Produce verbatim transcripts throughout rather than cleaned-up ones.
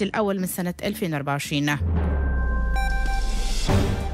الأول من سنة ألفين وأربعة وعشرين.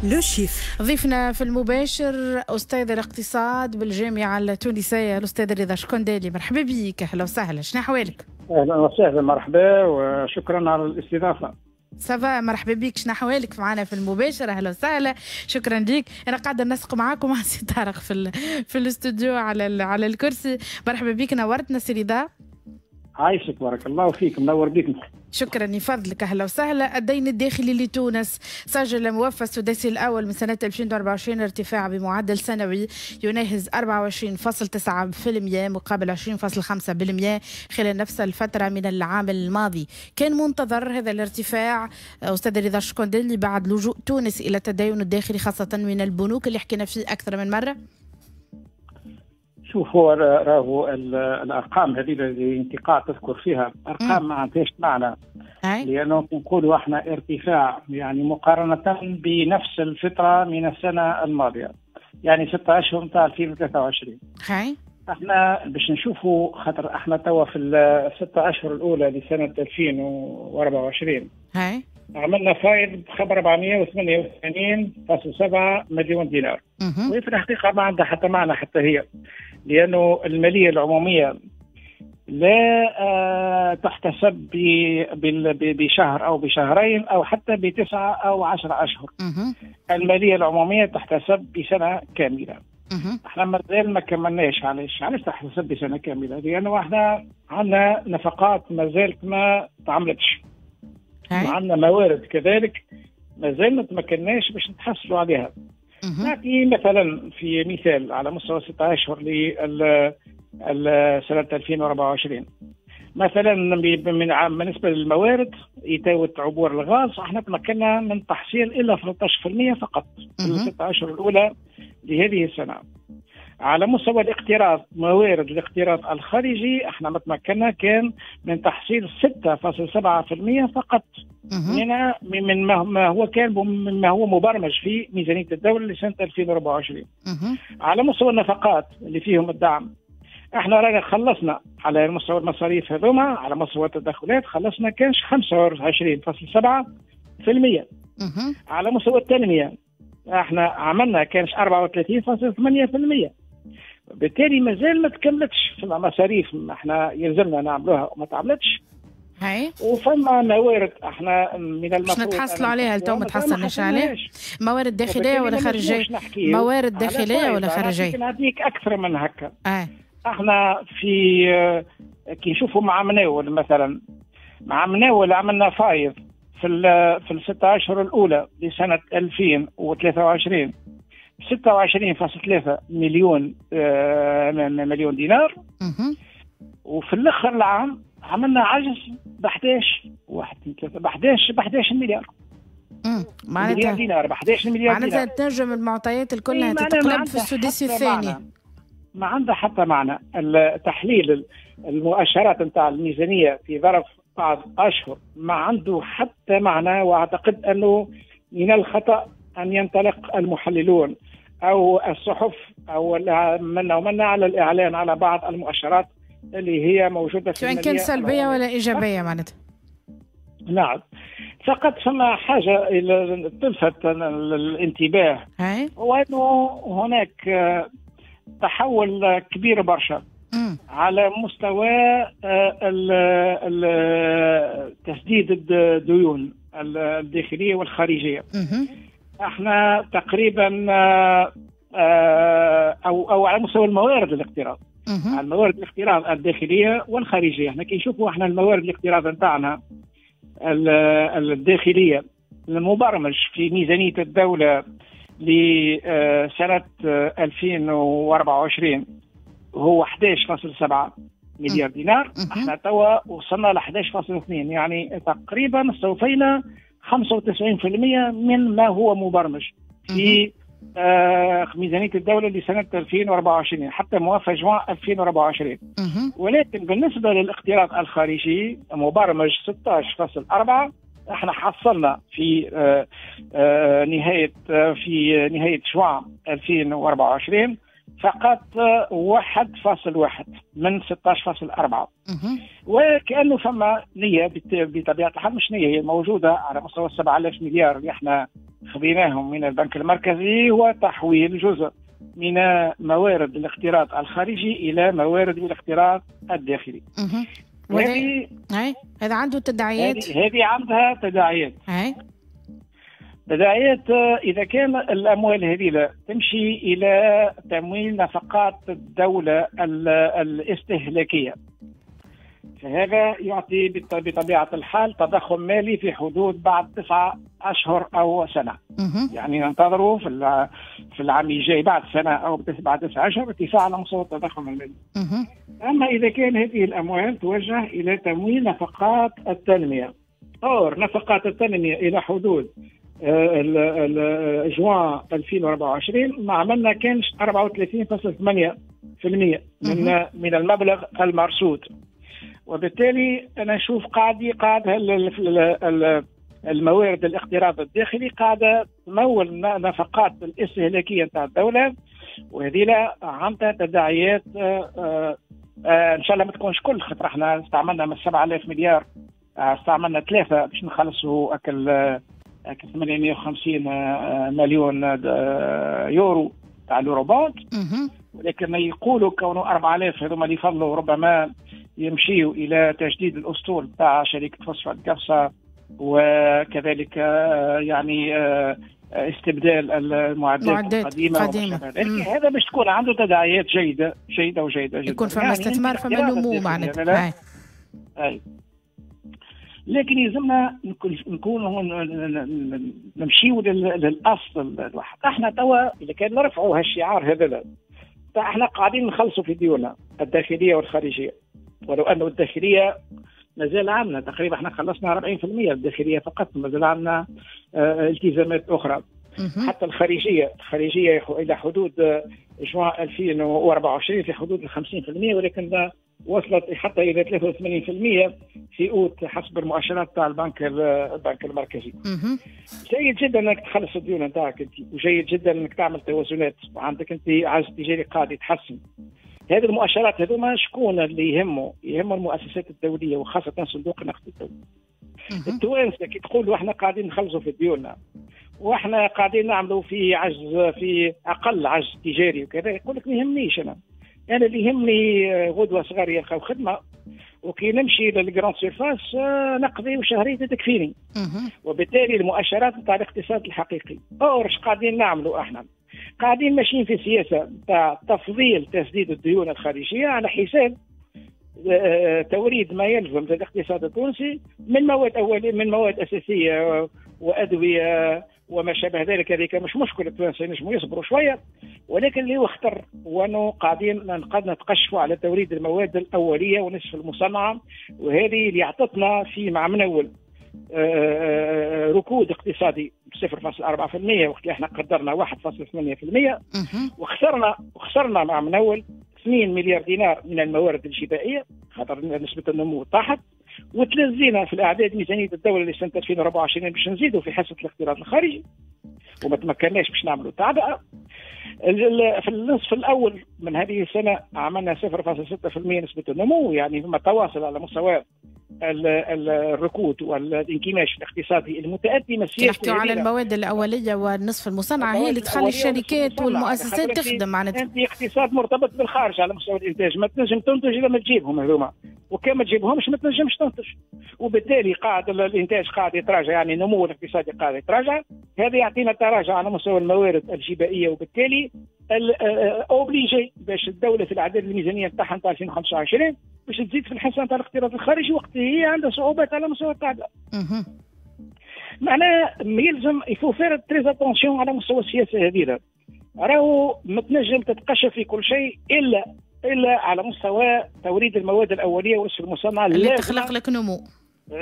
le chiffre. ضيفنا في المباشر أستاذ الاقتصاد بالجامعة التونسية الأستاذ رضا شكندالي، مرحبا بك، أهلا وسهلا، شنو أحوالك؟ أهلا وسهلا، مرحبا وشكرا على الاستضافة. ça va، مرحبا بك، شنو احوالك معنا في المباشر؟ اهلا وسهلا، شكرا لك. انا قاعدة نسق معاكم مع سي طارق في ال... في الاستوديو على على الكرسي. مرحبا بك، نورتنا سي رضا. عايشك، بارك الله فيك، منور بك. شكرا يفضلك، اهلا وسهلا. الدين الداخلي لتونس سجل موفى السداسي الاول من سنة ألفين وأربعة وعشرين ارتفاع بمعدل سنوي يناهز أربعة وعشرين فاصلة تسعة بالمئة مقابل عشرين فاصلة خمسة بالمئة خلال نفس الفترة من العام الماضي. كان منتظر هذا الارتفاع استاذ رضا الشكندالي بعد لجوء تونس الى التدين الداخلي خاصة من البنوك اللي حكينا فيه اكثر من مرة؟ شوف، هو راهو الارقام هذه اللي انت قاعد تذكر فيها ارقام ما عندهاش معنى، لانه نقولوا احنا ارتفاع يعني مقارنة بنفس الفترة من السنة الماضية، يعني ستة اشهر نتاع ألفين وثلاثة وعشرين. هاي احنا باش نشوفوا، خاطر احنا توا في الستة اشهر الاولى لسنه ألفين وأربعة وعشرين هاي عملنا فايض بخبر أربعمئة وثمانية وثمانين فاصلة سبعة مليون دينار، وهي في الحقيقة ما عندها حتى معنى حتى هي، لأنه المالية العمومية لا تحتسب بشهر أو بشهرين أو حتى بتسعة أو عشرة أشهر. المالية العمومية تحتسب بسنة كاملة. احنا مازال ما كملناش. علاش؟ علاش تحتسب بسنة كاملة؟ لأنه احنا عندنا نفقات ما زالت ما تعملتش، وعندنا موارد كذلك ما زال ما تمكناش باش نتحصلوا عليها. نعطي مثلا في مثال على مستوى ستة اشهر لسنه ألفين وأربعة وعشرين، مثلا من بالنسبة للموارد إتاوة عبور الغاز احنا تمكنا من تحصيل الا ثلاثة عشر بالمئة فقط في الستة اشهر الاولى لهذه السنة. على مستوى الاقتراض، موارد الاقتراض الخارجي احنا ما تمكنا كان من تحصيل ستة فاصلة سبعة بالمئة فقط من من ما هو كان مما هو مبرمج في ميزانية الدولة لسنة ألفين وأربعة وعشرين. على مستوى النفقات اللي فيهم الدعم، احنا رانا خلصنا على مستوى المصاريف هذوما، على مستوى التدخلات خلصنا كانش خمسة وعشرين فاصلة سبعة بالمئة. على مستوى التنمية احنا عملنا كانش أربعة وثلاثين فاصلة ثمانية بالمئة. بالتالي مازال ما تكملتش، فما مصاريف احنا يلزمنا نعملوها وما تعملتش. هاي وفما موارد احنا من المفروض باش نتحصلوا عليها لتو ما تحصلناش عليها. موارد داخلية ولا خارجية؟ موارد داخلية ولا خارجية؟ نعطيك اكثر من هكا. آه. احنا في كي نشوفوا مع مناول مثلا، مع مناول عملنا فايض في في الستة اشهر الاولى لسنه ألفين وثلاثة وعشرين ستة وعشرين فاصلة ثلاثة مليون آه مليون دينار. وفي الاخر العام عملنا عجز ب أحد عشر واحد اثنين ثلاثة ب أحد عشر ب أحد عشر مليار. امم معناتها دينار ب أحد عشر مليار. معناتها تنجم المعطيات الكلها تتقلب في السداسي الثاني. ما عندها حتى معنى. التحليل المؤشرات نتاع الميزانية في ظرف بعض اشهر ما عنده حتى معنى، واعتقد انه من الخطا ان ينطلق المحللون او الصحف او من ومن على الاعلان على بعض المؤشرات اللي هي موجودة في سواء كان سلبية ولا ايجابية معناتها. نعم، فقط فما حاجة تلفت الانتباه، هو انه هناك تحول كبير برشا على مستوى تسديد الديون الداخلية والخارجية. احنا تقريبا او او على مستوى الموارد الاقتراض، على الموارد الاقتراض الداخلية والخارجية. احنا كي نشوفوا احنا الموارد الاقتراض نتاعنا الداخلية المبرمج في ميزانية الدولة لسنه ألفين وأربعة وعشرين هو أحد عشر فاصلة سبعة مليار دينار. احنا توا وصلنا ل أحد عشر فاصلة اثنين، يعني تقريبا استوفينا خمسة وتسعين بالمئة من ما هو مبرمج في آه ميزانية الدولة لسنة ألفين وأربعة وعشرين حتى موافق جوان ألفين وأربعة وعشرين. ولكن بالنسبة للاقتراض الخارجي مبرمج ستة عشر فاصلة أربعة، احنا حصلنا في آه آه نهاية آه في نهاية جوان ألفين وأربعة وعشرين فقط واحد فاصل واحد من ستة عشر فاصل أربعة. وكأنه فما نية بطبيعة الحال، مش نية، هي موجودة على مستوى سبعة آلاف مليار اللي احنا خذيناهم من البنك المركزي، هو تحويل جزء من موارد الاقتراض الخارجي إلى موارد الاقتراض الداخلي. هذه هذا عنده تداعيات، هذه عندها تداعيات. تداعيات إذا كان الأموال هذه تمشي إلى تمويل نفقات الدولة الاستهلاكية، فهذا يعطي بطبيعة الحال تضخم مالي في حدود بعد تسعة أشهر أو سنة. يعني ننتظره في في العام الجاي بعد سنة أو بعد تسعة أشهر ارتفاع على مستوى التضخم المالي. أما إذا كان هذه الأموال توجه إلى تمويل نفقات التنمية، أو نفقات التنمية إلى حدود جوان ألفين وأربعة وعشرين ما عملنا كانش أربعة وثلاثين فاصل ثمانية بالمئة من من المبلغ المرصود. وبالتالي انا نشوف قاعد قاعد الموارد الاقتراض الداخلي قاعدة تمول نفقات الاستهلاكية نتاع الدولة، وهذه لا عندها تداعيات ان شاء الله ما تكونش كل، خاطر احنا استعملنا من سبعة آلاف مليار استعملنا ثلاثة باش نخلصوا اكل ثمانمئة وخمسين مليون يورو تاع اليورو بوند، ولكن يقولوا كونه أربعة آلاف هذوما اللي فضلوا ربما يمشيوا الى تجديد الاسطول تاع شركة فوسفات قفصه، وكذلك يعني استبدال المعدات القديمة. قديمة. هذا باش تكون عنده تداعيات جيدة جيدة وجيده جدا، يكون فما يعني استثمار فما نمو معناتها. اي لكن يلزمنا نكون نمشيو للاصل الواحد. احنا توا اذا كان نرفعوا هالشعار هذا، احنا قاعدين نخلصوا في ديوننا الداخلية والخارجية، ولو انه الداخلية مازال عندنا تقريبا احنا خلصنا أربعين بالمئة الداخلية فقط، مازال عندنا التزامات اخرى. حتى الخارجية، الخارجية الى حدود جوان ألفين وأربعة وعشرين في حدود ال خمسين بالمئة، ولكن وصلت حتى الى ثلاثة وثمانين بالمئة في اوت حسب المؤشرات تاع البنك البنك المركزي. جيد جدا انك تخلص الديون نتاعك انت، وجيد جدا انك تعمل توازنات، وعندك انت عجز تجاري قاعد يتحسن. هذه المؤشرات هذوما شكون اللي يهمه؟ يهمه المؤسسات الدولية وخاصة صندوق النقد الدولي. التوانسة كي تقولوا احنا قاعدين نخلصوا في ديوننا واحنا قاعدين نعملوا في عجز، في اقل عجز تجاري وكذا، يقول لك ما يهمنيش انا. انا اللي يهمني غدوه صغار يلقاو خدمة، وكي نمشي لل grandes surfaces نقضي وشهريتي تكفيني. وبالتالي المؤشرات نتاع الاقتصاد الحقيقي. or اش قاعدين نعملوا احنا؟ قاعدين ماشيين في سياسة نتاع تفضيل تسديد الديون الخارجية على حساب توريد ما يلزم للاقتصاد التونسي من مواد اوليه، من مواد اساسية وادوية وما شابه ذلك. هذيك مش مشكلة، التوانسة ينجموا يصبروا شوية، ولكن اللي هو خطر هو انه قاعدين نتقشفوا على توريد المواد الاولية ونصف المصنعة، وهذه اللي اعطتنا في مع من اول ركود اقتصادي صفر فاصل أربعة بالمئة وقت اللي احنا قدرنا واحد فاصل ثمانية بالمئة، وخسرنا وخسرنا مع من اول اثنين مليار دينار من الموارد الجبائيه خاطر نسبه النمو طاحت، وتلزينا في الاعداد ميزانية الدولة لسنه ألفين وأربعة وعشرين باش نزيدوا في حصة الاقتراض الخارجي، وما تمكناش باش نعملوا تعبئة. في النصف الاول من هذه السنة عملنا صفر فاصل ستة بالمئة نسبه النمو، يعني ثم تواصل على مستوى الركود والانكماش الاقتصادي المتأتي من السياسة. نحكيو على المواد الاولية والنصف المصنعة هي اللي تخلي الشركات والمؤسسات تخدم معناتها. انت اقتصاد مرتبط بالخارج على مستوى الانتاج، ما تنجم تنتج الا ما تجيبهم هذوما، وكان ما تجيبهمش ما تنجمش تنتج، وبالتالي قاعد الانتاج قاعد يتراجع، يعني النمو الاقتصادي قاعد يتراجع. هذا يعطينا تراجع على مستوى الموارد الجبائيه، وبالتالي obligé باش الدولة في الاعداد الميزانية نتاعها نتاع ألفين وخمسة وعشرين باش تزيد في الحصة نتاع الاقتراض الخارجي وقت هي عندها صعوبات على مستوى التعبئه. معناها يلزم il faut faire très attention على مستوى السياسة هذه، راهو ما تنجم تتقشف في كل شيء الا الا على مستوى توريد المواد الاولية والنصف المصنعة اللي تخلق لك نمو.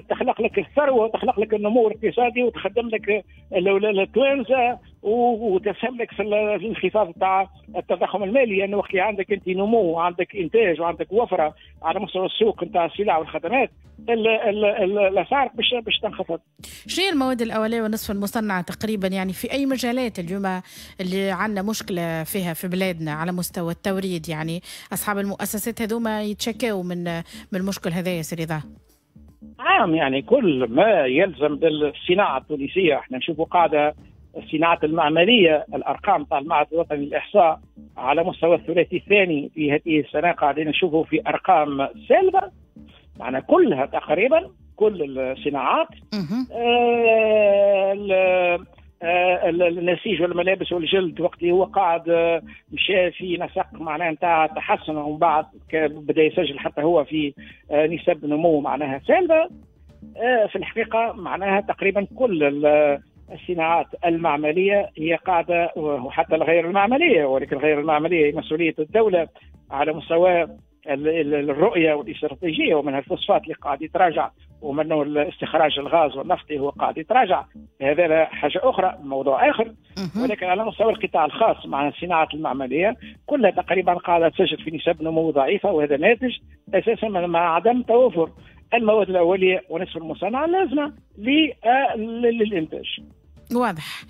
تخلق لك الثروة وتخلق لك النمو الاقتصادي وتخدم لك التوانسة وتسهم لك في الانخفاض تاع التضخم المالي، لانه يعني وقت اللي عندك انت نمو وعندك انتاج وعندك وفرة على مستوى السوق نتاع السلع والخدمات، الاسعار باش باش تنخفض. شنو هي المواد الاولية والنصف المصنعة تقريبا، يعني في اي مجالات اليوم اللي عندنا مشكلة فيها في بلادنا على مستوى التوريد؟ يعني اصحاب المؤسسات هذوما يتشكاو من من المشكل هذا يا سي رضا. عام يعني كل ما يلزم بالصناعة التونسية، احنا نشوفوا قاعدة الصناعة المعمليه، الارقام تاع المعهد الوطني للاحصاء على مستوى الثلاثي الثاني في هذه السنة قاعدين نشوفوا في ارقام سالبه، معنا كلها تقريبا كل الصناعات، آه النسيج والملابس والجلد وقت اللي هو قاعد مشى في نسق معناها نتاع تحسن، ومن بعد بدا يسجل حتى هو في نسب نمو معناها سالبه. في الحقيقة معناها تقريبا كل الصناعات المعمليه هي قاعدة، وحتى الغير المعمليه، ولكن الغير المعمليه هي مسؤولية الدولة على مستوى الرؤية والاستراتيجيه، ومنها الفوسفات اللي قاعد يتراجع، ومنه استخراج الغاز والنفط هو قاعد يتراجع، هذا حاجة اخرى، موضوع اخر. ولكن على مستوى القطاع الخاص مع الصناعة المعمليه كلها تقريبا قاعدة تسجل في نسب نمو ضعيفة، وهذا ناتج اساسا مع عدم توفر المواد الاولية ونصف المصنعة اللازمة للانتاج. واضح.